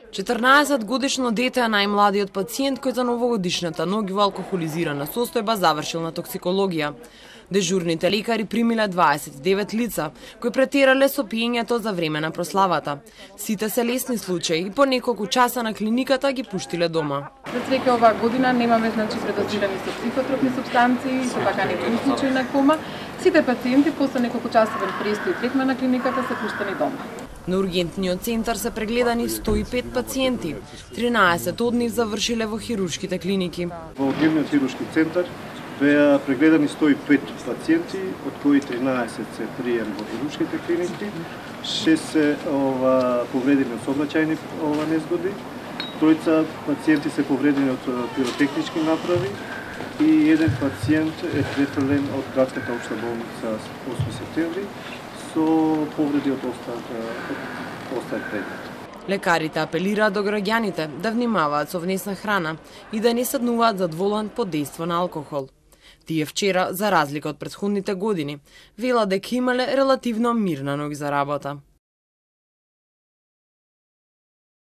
14-годишно дете е најмладиот пациент кој за новогодишната ноќ во алкохолизирана состојба завршил на токсикологија. Дежурните лекари примиле 29 лица, кои претерале со пиењето за време на прославата. Сите се лесни случаи и по неколку часа на клиниката ги пуштиле дома. За среќа оваа година немаме предозирани со психотропни супстанции, со така некои случаи на кома. Сите пациенти после неколку часовен престој и третман на клиниката се пуштени дома. На ургентниот центар се прегледани 105 пациенти. 13 од нив завршиле во хируршките клиники. Во ургентниот хируршки центар беа прегледани 105 пациенти, од кои 13 се прием во хируршките клиники, 6 се повредени од сообраќајни незгоди, тројца пациенти се повредени од пиротехнички направи и еден пациент е префрлен од градската општа болница 8 септември со повреди од остар предмет. Лекарите апелираат до граѓаните да внимаваат со внесна храна и да не седнуваат зад волан под дејство на алкохол. Тие вчера, за разлика од претходните години, велат дека имале релативно мирна ноќ за работа.